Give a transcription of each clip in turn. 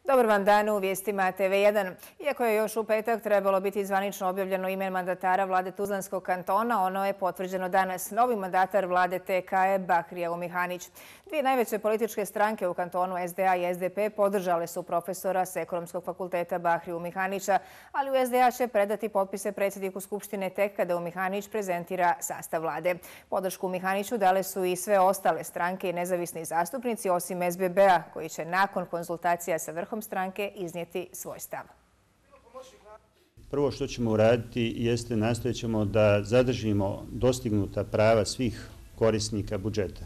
Dobar vam dan u vijestima TV1. Iako je još u petak trebalo biti zvanično objavljeno ime mandatara vlade Tuzlanskog kantona, ono je potvrđeno danas. Novi mandatar vlade TK je Bahrija Umihanić. Dvije najveće političke stranke u kantonu SDA i SDP podržale su profesora s Ekonomskog fakulteta Bahriju Umihanića, ali u SDA će predati potpise predsjedniku Skupštine tek kada Umihanić prezentira sastav vlade. Podršku Umihaniću dale su i sve ostale stranke i nezavisni zastupnici, osim SBB-a, koji će nakon konzultacija sa vrhom stranke iznijeti svoj stav. Prvo što ćemo uraditi jeste nastojat ćemo da zadržimo dostignuta prava svih korisnika budžeta.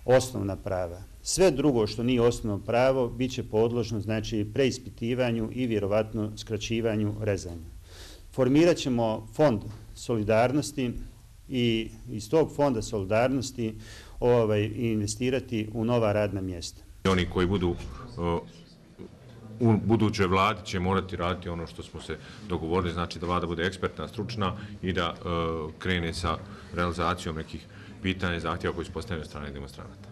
Osnovna prava. Sve drugo što nije osnovno pravo bit će podložno preispitivanju i vjerovatno skraćivanju rezanja. Formirat ćemo fond solidarnosti i iz tog fonda solidarnosti investirati u nova radna mjesta. Oni koji budu u budućoj vladi će morati raditi ono što smo se dogovorili, znači da vlada bude ekspertna, stručna i da krene sa realizacijom nekih pitanja i zahtjeva koji su postavljeni od strane demonstranata.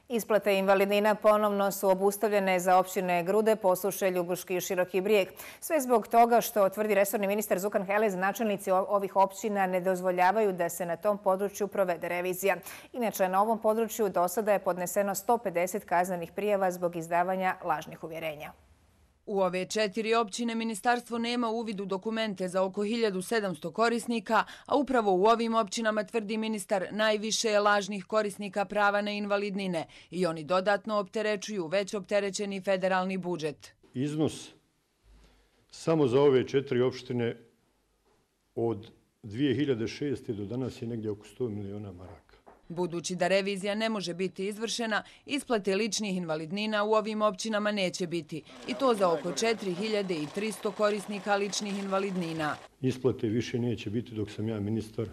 Isplate invalidnina ponovno su obustavljene za općine Grude, Posušje, Ljubuški i Široki Brijeg. Sve zbog toga što, tvrdi resorni ministar Zukan Helez, načelnici ovih općina ne dozvoljavaju da se na tom području provede revizija. Inače, na ovom području do sada je podneseno 150 kaznenih prijava zbog izdavanja lažnih uvjerenja. U ove 4 općine ministarstvo nema uvid u dokumente za oko 1700 korisnika, a upravo u ovim općinama, tvrdi ministar, najviše je lažnih korisnika prava na invalidnine i oni dodatno opterećuju već opterećeni federalni budžet. Iznos samo za ove 4 opštine od 2006. do danas je negdje oko 100 miliona maraka. Budući da revizija ne može biti izvršena, isplate ličnih invalidnina u ovim općinama neće biti, i to za oko 4300 korisnika ličnih invalidnina. Isplate više neće biti dok sam ja ministar,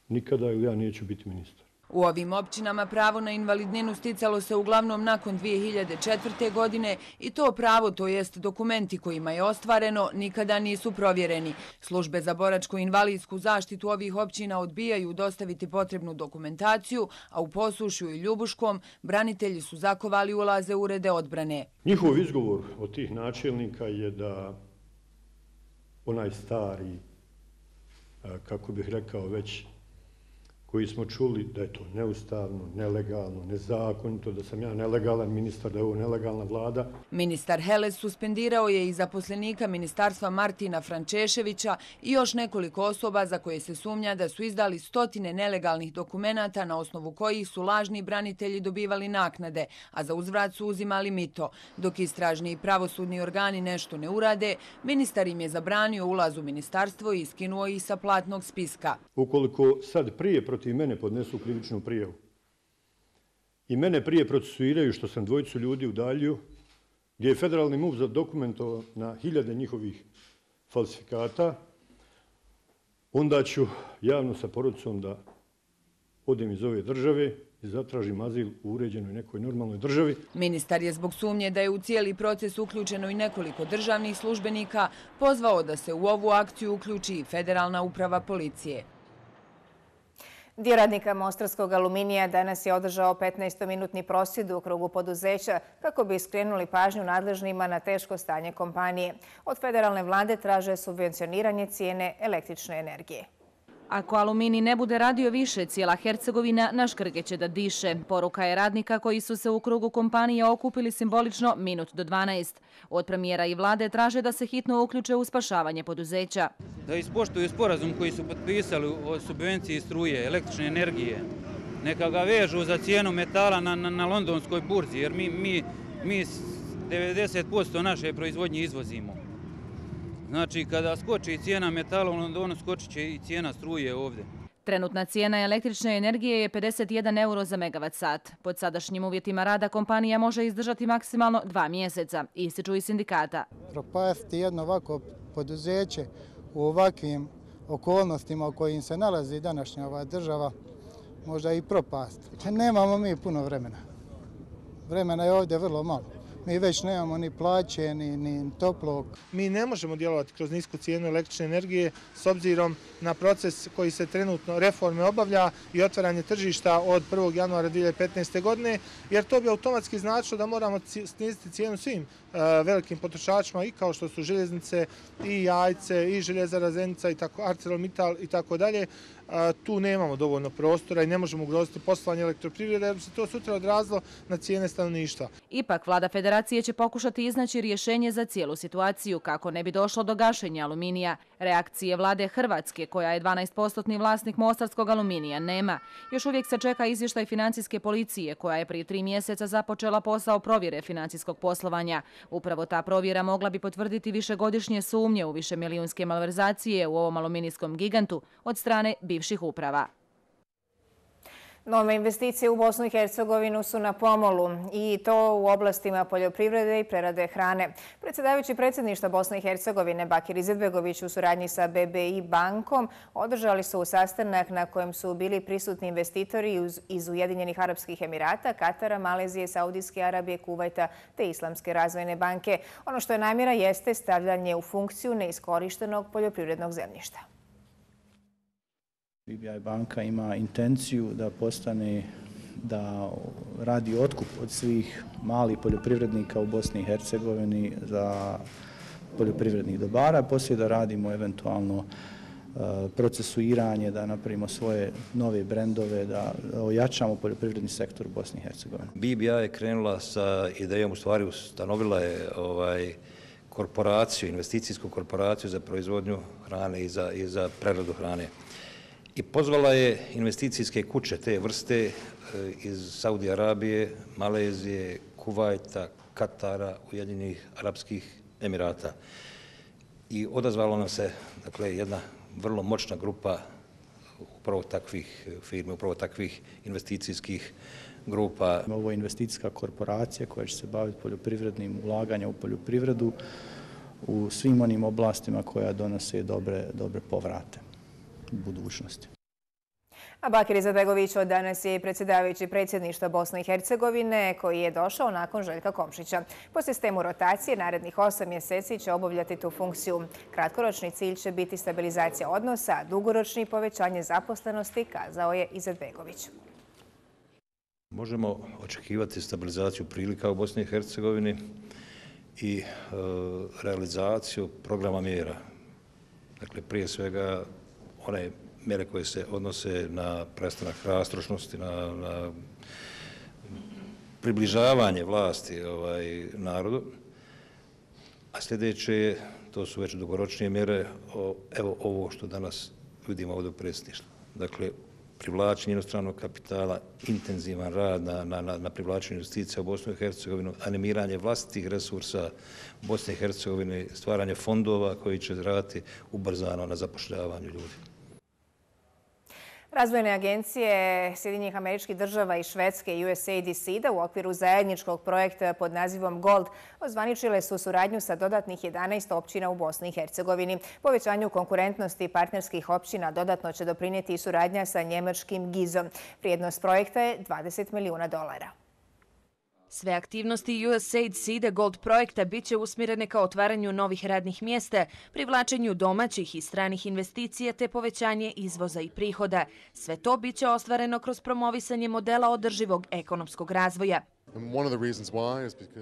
nikada, ili ja neću biti ministar. U ovim općinama pravo na invalidninu sticalo se uglavnom nakon 2004. godine i to pravo, to jest dokumenti kojima je ostvareno, nikada nisu provjereni. Službe za boračku invalidsku zaštitu ovih općina odbijaju dostaviti potrebnu dokumentaciju, a u Posušju i Ljubuškom branitelji su zakovali ulaze u urede odbrane. Njihov izgovor od tih načelnika je da onaj stari, kako bih rekao već, koji smo čuli da je to neustavno, nelegalno, nezakonito, da sam ja nelegalan ministar, da je ovo nelegalna vlada. Ministar Helez suspendirao je i zaposlenika ministarstva Martina Frančeševića i još nekoliko osoba za koje se sumnja da su izdali stotine nelegalnih dokumenata na osnovu kojih su lažni branitelji dobivali naknade, a za uzvrat su uzimali mito. Dok istražni i pravosudni organi nešto ne urade, ministar im je zabranio ulaz u ministarstvo i iskinuo ih sa platnog spiska. Ukoliko sad prije protiv mene podnesu krivičnu prijavu i mene prije procesuiraju što sam dvojicu ljudi udaljio, gdje je federalni MUP zadokumentovao na hiljade njihovih falsifikata, onda ću javno sa porodicom da odem iz ove države i zatražim azil u uređenoj nekoj normalnoj državi. Ministar je zbog sumnje da je u cijeli proces uključeno i nekoliko državnih službenika pozvao da se u ovu akciju uključi i Federalna uprava policije. Dio radnika Mostarskog aluminija danas je održao 15-minutni prosvjed u krugu poduzeća kako bi skrenuli pažnju nadležnima na teško stanje kompanije. Od federalne vlade traže subvencioniranje cijene električne energije. Ako Aluminij ne bude radio više, cijela Hercegovina na škrge će da diše. Poruka je radnika koji su se u krugu kompanije okupili simbolično minut do 12. Od premijera i vlade traže da se hitno uključe u spašavanje poduzeća. Da ispoštuju sporazum koji su potpisali o subvenciji struje, električne energije. Neka ga vežu za cijenu metala na londonskoj burzi, jer mi 90% naše proizvodnje izvozimo. Znači, kada skoči cijena metala u Londonu, skočit će i cijena struje ovdje. Trenutna cijena električne energije je 51 euro za megavat sat. Pod sadašnjim uvjetima rada kompanija može izdržati maksimalno 2 mjeseca, ističu i sindikata. Propasti jedno ovako poduzeće u ovakvim okolnostima u kojim se nalazi današnja ova država, možda i propast. Nemamo mi puno vremena. Vremena je ovdje vrlo malo. mi već nemamo ni plaće, ni toplog. Mi ne možemo djelovati kroz nisku cijenu električne energije s obzirom na proces koji se trenutno reforme obavlja i otvaranje tržišta od 1. januara 2015. godine, jer to bi automatski značilo da moramo sniziti cijenu svim velikim potrošačima i kao što su željeznice i Jajce i Željezara Zenica i tako ArcelorMittal i tako dalje. Tu nemamo dovoljno prostora i ne možemo ugroziti poslovanje elektroprivrede jer bi se to sutra odrazilo na cijene stanovništva. Ipak, vlada federacije će pokušati iznaći rješenje za cijelu situaciju kako ne bi došlo do gašenja aluminija. Reakcije vlade Hrvatske, koja je 12% vlasnik mostarskog aluminija, nema. Još uvijek se čeka izvještaj financijske policije koja je prije 3 mjeseca započela posao provjere financijskog poslovanja. Upravo ta provjera mogla bi potvrditi višegodišnje sumnje u višemilijunske malverzacije u ovom aluminijskom gigantu od strane bivših uprava. Nove investicije u Bosnu i Hercegovinu su na pomolu i to u oblastima poljoprivrede i prerade hrane. Predsjedavajući predsjedništva Bosne i Hercegovine Bakir Izetbegović u suradnji sa BBI bankom održali su sastanak na kojem su bili prisutni investitori iz Ujedinjenih Arapskih Emirata, Katara, Malezije, Saudijske Arabije, Kuvajta te Islamske razvojne banke. Ono što je namjera jeste stavljanje u funkciju neiskorištenog poljoprivrednog zemljišta. BBI banka ima intenciju da radi otkup od svih malih poljoprivrednika u Bosni i Hercegovini za poljoprivrednih dobara, poslije da radimo eventualno procesuiranje, da napravimo svoje nove brendove, da ojačamo poljoprivredni sektor u Bosni i Hercegovini. BBI je krenula sa idejom, u stvari ustanovila je korporaciju, investicijsku korporaciju za proizvodnju hrane i za preradu hrane. I pozvala je investicijske kuće te vrste iz Saudi Arabije, Malezije, Kuvajta, Katara, Ujedinjenih Arapskih Emirata. I odazvala nam se jedna vrlo moćna grupa upravo takvih firmi, upravo takvih investicijskih grupa. Ovo je investicijska korporacija koja će se baviti poljoprivrednim ulaganjem u poljoprivredu u svim onim oblastima koja donose dobre povrate u budućnosti. A Bakir Izetbegović od danas je predsjedavajući predsjedništva Bosne i Hercegovine koji je došao nakon Željka Komšića. Po sistemu rotacije narednih 8 mjeseci će obavljati tu funkciju. Kratkoročni cilj će biti stabilizacija odnosa, a dugoročni povećanje zaposlenosti, kazao je Izetbegović. Možemo očekivati stabilizaciju prilika u Bosni i Hercegovini i realizaciju programa mjera. Dakle, prije svega one mjere koje se odnose na prestanak rastrošnosti, na približavanje vlasti narodu, a sljedeće, to su već dugoročnije mjere, evo ovo što danas vidimo ovdje u predsjedništvu. Dakle, privlačenje inostranog kapitala, intenzivan rad na privlačenju investicija u Bosnu i Hercegovinu, animiranje vlastitih resursa u Bosni i Hercegovini, stvaranje fondova koji će raditi ubrzano na zapošljavanju ljudi. Razvojne agencije Sjedinjenih Američkih Država i Švedske i USAID i SIDA u okviru zajedničkog projekta pod nazivom GOLD ozvaničile su suradnju sa dodatnih 11 općina u Bosni i Hercegovini. Povećanju konkurentnosti partnerskih općina dodatno će doprinijeti i suradnja sa njemačkim GIZ-om. Vrijednost projekta je $20 milijuna. Sve aktivnosti USAID SIDA Gold projekta bit će usmjerene ka otvaranju novih radnih mjesta, privlačenju domaćih i stranih investicija te povećanje izvoza i prihoda. Sve to bit će ostvareno kroz promovisanje modela održivog ekonomskog razvoja.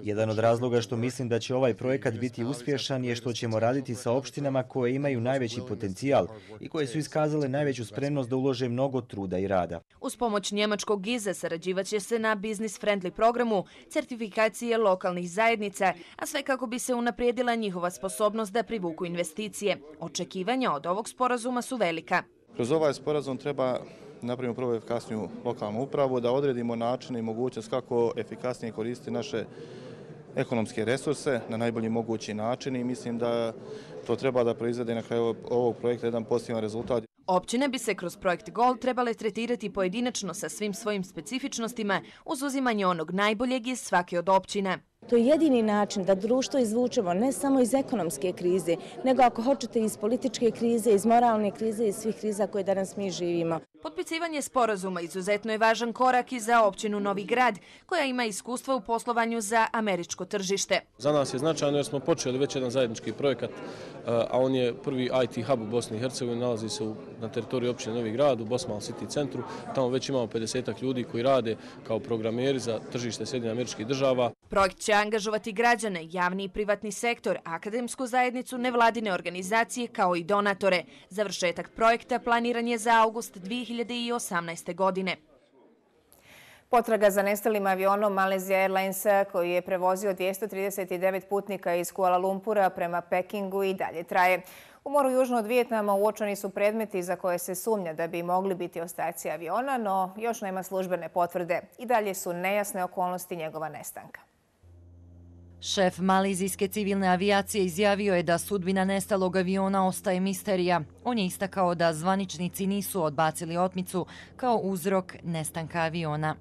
Jedan od razloga što mislim da će ovaj projekat biti uspješan je što ćemo raditi sa opštinama koje imaju najveći potencijal i koje su iskazale najveću spremnost da ulože mnogo truda i rada. Uz pomoć njemačkog GIZ-a sarađivat će se na business friendly programu, certifikacije lokalnih zajednica, a sve kako bi se unaprijedila njihova sposobnost da privuku investicije. Očekivanja od ovog sporazuma su velika. Kroz ovaj sporazum treba napravimo prvo efikasniju lokalnu upravu, da odredimo načine i mogućnost kako efikasnije koristiti naše ekonomske resurse na najbolji mogući način i mislim da to treba da proizvede na kraju ovog projekta jedan pozitivan rezultat. Općine bi se kroz projekt GOLD trebale tretirati pojedinačno sa svim svojim specifičnostima uz uzimanje onog najboljeg iz svake od općina. To je jedini način da društvo izvučemo ne samo iz ekonomske krize, nego ako hoćete iz političke krize, iz moralne krize i svih kriza koje danas mi živimo. Potpisivanje sporazuma izuzetno je važan korak i za općinu Novi Grad, koja ima iskustva u poslovanju za američko tržište. Za nas je značajno jer smo počeli već jedan zajednički projekat, a on je prvi IT hub u Bosni i Hercegovini, nalazi se na teritoriji općine Novi Grad u Bosmal City centru. Tamo već imamo 50 ljudi koji rade kao programeri za tržište Sjedinjenih Američkih Država. Projekt će angažovati građane, javni i privatni sektor, akademsku zajednicu, nevladine organizacije kao i donatore. Završetak projekta planiran je za august 2018. godine. Potraga za nestalim avionom Malaysia Airlinesa koji je prevozio 239 putnika iz Kuala Lumpura prema Pekingu i dalje traje. U moru južno od Vijetnama uočeni su predmeti za koje se sumnja da bi mogli biti ostaci aviona, no još nema službene potvrde. I dalje su nejasne okolnosti njegova nestanka. Šef malezijske civilne avijacije izjavio je da sudbina nestalog aviona ostaje misterija. On je istakao da zvaničnici nisu odbacili otmicu kao uzrok nestanka aviona.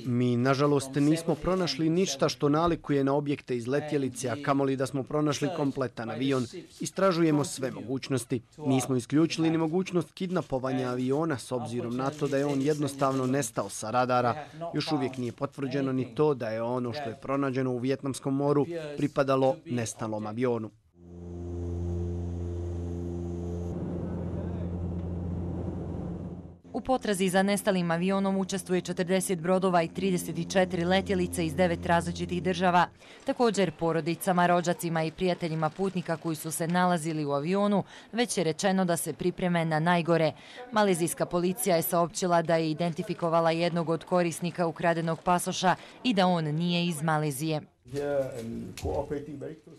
Mi, nažalost, nismo pronašli ništa što nalikuje na objekte iz letjelice, a kamoli da smo pronašli kompletan avion. Istražujemo sve mogućnosti. Nismo isključili ni mogućnost kidnapovanja aviona s obzirom na to da je on jednostavno nestao sa radara. Još uvijek nije potvrđeno ni to da je ono što je pronađeno u Vijetnamskom moru pripadalo nestalom avionu. U potrazi za nestalim avionom učestvuje 40 brodova i 34 letjelice iz 9 različitih država. Također porodicama, rođacima i prijateljima putnika koji su se nalazili u avionu već je rečeno da se pripreme na najgore. Malezijska policija je saopćila da je identifikovala jednog od korisnika ukradenog pasoša i da on nije iz Malezije.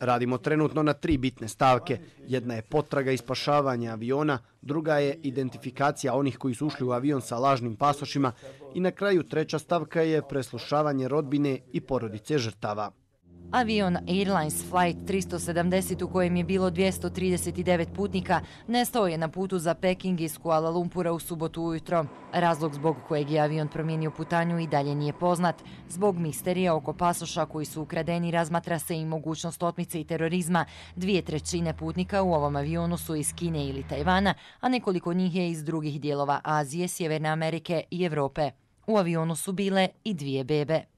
Radimo trenutno na 3 bitne stavke. Jedna je potraga i spašavanje aviona, druga je identifikacija onih koji su ušli u avion sa lažnim pasošima i na kraju 3. stavka je preslušavanje rodbine i porodice žrtava. Avion Airlines Flight 370 u kojem je bilo 239 putnika nestao je na putu za Peking iz Kuala Lumpura u subotu ujutro. Razlog zbog kojeg je avion promijenio putanju i dalje nije poznat. Zbog misterija oko pasoša koji su ukradeni razmatra se i mogućnost otmice i terorizma. 2/3 putnika u ovom avionu su iz Kine ili Tajvana, a nekoliko njih je iz drugih dijelova Azije, Sjeverne Amerike i Evrope. U avionu su bile i 2 bebe.